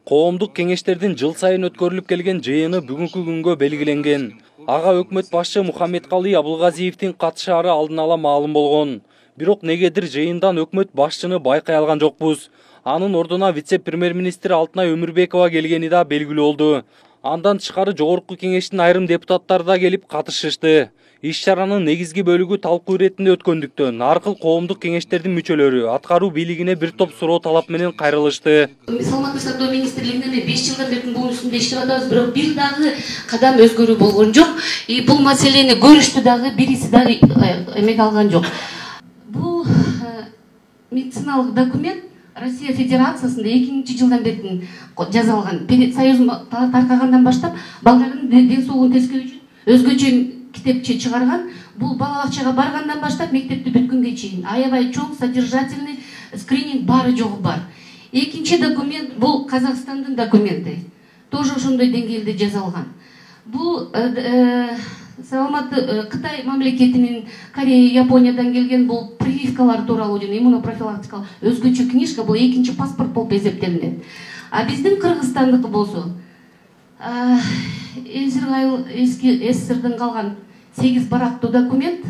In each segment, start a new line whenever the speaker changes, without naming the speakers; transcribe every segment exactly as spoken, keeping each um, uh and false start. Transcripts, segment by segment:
Коомдук кеңештердин жыл сайын өткөрүлүп келген жыйыны бүгүнкү күнгө белгиленген. Ага өкмөт башчы Мухаммедкалый Абылгазиевдин катышаары алдын ала маалым болгон. Бирок негедир жыйындан өкмөт башчыны байкай алган жокпуз. Анын ордуна вице-премьер-министр Алтынай Өмүрбекова келгени да белгилүү болду. Андан тышкары жогорку кеңештин айрым депутаттары да келип катышышты. Иш-чаранын негизги бөлүгү талкуу иретинде өткөндүктөн аркыл коомдук кеңештердин мүчөлөрү аткаруу бийлигине бир топ суроо талап менен кайрылышты.
Саламаттык сактоо министрлигинде беш жылдан бери бул үстүндө иштеп атабыз, бирок бир дагы кадам өзгөрүү болгон жок. И бул маселени көрүштү дагы, бириси дагы эмек алган жок. Бул медициналык документ Россия Федерациясында экинчи жылдан бери жазалган. Союз таркагандан баштап балдардын ден соолугун тескерүү үчүн өзгөчө китепче чыгарган. Бул бала бакчага баргандан баштап мектепти бүткөнгө чейин аябай чоң содержательный скрининг баары жогу бар. Экинчи документ бул Казакстандын документи. Тоже ошондой деңгээлде жазалган. Бул саламатты Кытай мамлекетинин, Корея, Япониядан келген бул прививкалар тууралуу жана иммунопрофилактикалык өзгөчө книжка, бул экинчи паспорт болуп эсептелинет. А биздин Кыргызстандыкы болсо Эзиргайыл эски СССРден калган сегиз барактуу документ.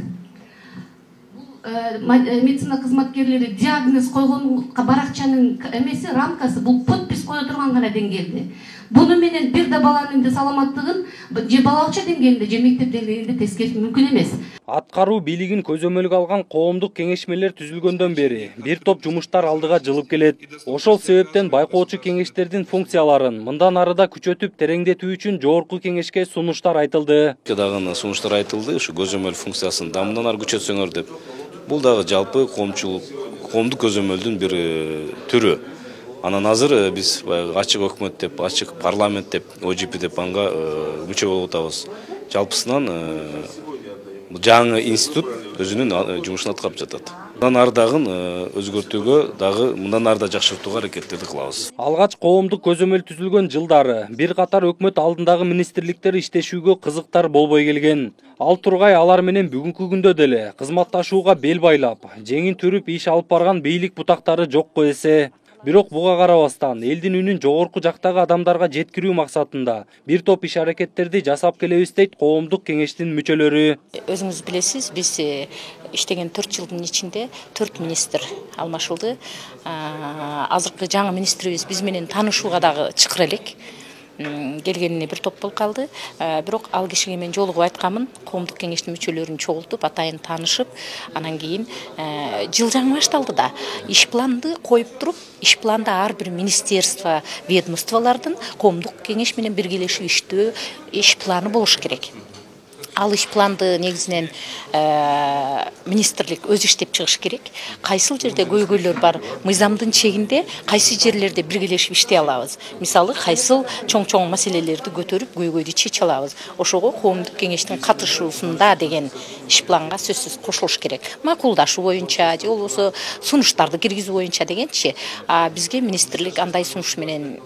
Медицина кызматкерлери диагноз койгон баракчанын эмеси, рамкасы бул подпись кое турган гана деңгээлде. Буну менен бир да баланын саламаттыгын же балакча деңгээлинде же мектеп деңгээлинде тескериш мүмкүн эмес.
Аткаруу бийлигин көзөмөлгө алган коомдук кеңешмелер түзүлгөндөн бери бир топ жумуштар алдыга жылып келет. Ошол себептен байкоочу кеңештердин функцияларын мындан ары да күчөтүп тереңдетүү үчүн жогорку кеңешке сунуштар айтылды.
Дагы сунуштар айтылды, ушу көзөмөл функциясын да мындан ары күчөтсөңөр деп. Бул дагы жалпы коомчулук, коомдук көзөмөлдүн бир түрү. Анан азыр биз ачык өкмөт деп, ачык парламент деп, О Ж П деп анга мүчө болуп атабыз. Жалпысынан жаңы институт өзүнүн жумушун аткарып жатат. Мындан ары дагы өзгөртүүгө, дагы мындан ары да жакшыртууга аракеттерди кылабыз.
Алгач коомдук көзөмөл түзүлгөн жылдары бир катар өкмөт алдындагы министрликтер иштешүүгө кызыктар болбой келген. Ал тургай алар менен бүгүнкү күндө деле кызматташууга бел байлап, жеңин түрүп иш алып барган бийлик бутактары жокко эсе. Бирок буга карабастан элдин үнүн жогорку жактагы адамдарга жеткирүү максатында бир топ иш аракеттерди жасап келебиз дейт коомдук кеңештин мүчөлөрү.
Өзүңүз билесиз, биз иштеген төрт жылдын ичинде төрт министр алмашылды. Азыркы жаңы министрибиз биз менен таанышууга дагы чыкыр элек. Келгенине бир топ болуп калды. Бирок ал кишиге мен жолугуп айтканмын, коомдук кеңештин мүчөлөрүн чогултуп, атайын таанышып, анан кийин жыл жаңы башталды да, иш планды коюп туруп, иш планда ар бир министерство, ведомстволордун коомдук кеңеш менен биргелешип иштөө иш планы болуш керек. Ал иш планды негизинен министрлик өзү иштеп чыгыш керек. Кайсыл жерде көйгөйлөр бар, мыйзамдын чегинде кайсы жерлерде биргелешип иштей алабыз. Мисалы, кайсыл чоң-чоң маселелерди көтөрүп, көйгөйдү чече алабыз. Ошого коомдук кеңештин катышуусунда деген иш планга сөзсүз кошулуш керек. Макулдашуу боюнча же болбосо сунуштарды киргизүү боюнча дегенчи, бизге министрлик андай сунуш менен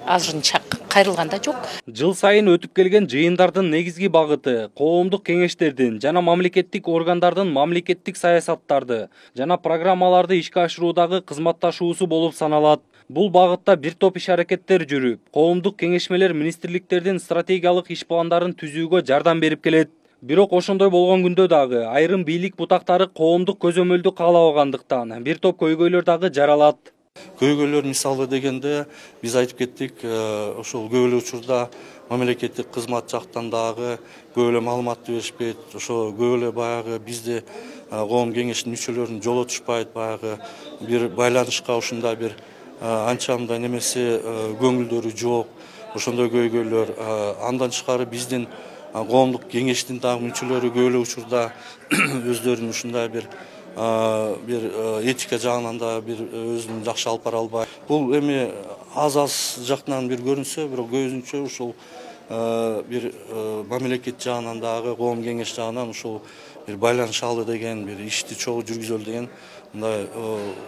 азырынча кайрылган да жок.
Жыл сайын өтүп келген жыйындардын негизги багыты коомдук кеңештердин жана мамлекеттик органдардын мамлекеттик саясаттарды жана программаларды ишке ашыруудагы кызматташуусу болуп саналат. Бул багытта бир топ иш аракеттер жүрүп, коомдук кеңешмелер министрликтердин стратегиялык иш пландарын түзүүгө жардам берип келет. Бирок ошондой болгон күндө дагы айрым бийлик бутактары коомдук көзөмөлдү каалабагандыктан бир топ көйгөйлөр дагы жаралат.
Көйгөйлөр мисалы дегенде биз айтып кеттик, ошол көп эле учурда мамлекеттик кызмат жактан дагы көп эле маалыматты беришпейт, ошо көп эле баягы бизде коом кеңештин мүчөлөрүн жолотушпайт, баягы бир байланышка ушундай бир анча мындай немеси көңүлдөрү жок, ошондой көйгөйлөр. Андан тышкары биздин коомдук кеңештин дагы мүчөлөрү көп эле учурда өздөрүнүн ушундай бир бир этика жагынан да бир өзүн жакшы алып бара албайт. Бул эми аз-аз жактан бир көрүнсө, бирок көзүнчө ушул бир мамлекет жагынан дагы коом кеңеш жагынан ушул бир байланышалы деген, бир ишти чогуу жүргүзөлү деген мындай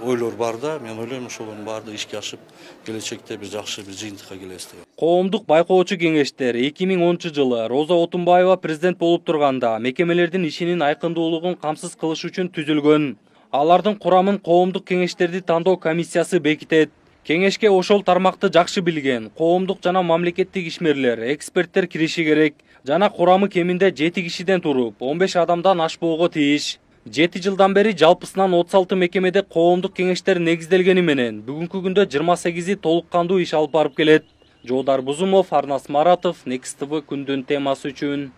ойлор бар да, мен ойлойм ошолордун баардыгы ишке ашып, келечекте бир жакшы бир жыйынтыкка келебиз деп.
Коомдук байкоочу кеңештер эки миң онунчу жылы Роза Отунбаева президент болуп турганда мекемелердин ишинин айкындуулугун камсыз кылыш үчүн түзүлгөн. Алардын курамын коомдук кеңештерди тандоо комиссиясы бекитет. Кеңешке ошол тармакты жакшы билген коомдук жана мамлекеттик ишмерлер, эксперттер кириши керек. Жана курамы кеминде жети кишиден туруп, он беш адамдан ашпоого тийиш. жети жылдан бери жалпысынан отуз алты мекемеде коомдук кеңештер негизделгени менен бүгүнкү күндө жыйырма сегизи толук кандуу иш алып барып келет. Жоодар Бузумов, Арнас Маратов, Next T V күндүн темасы үчүн.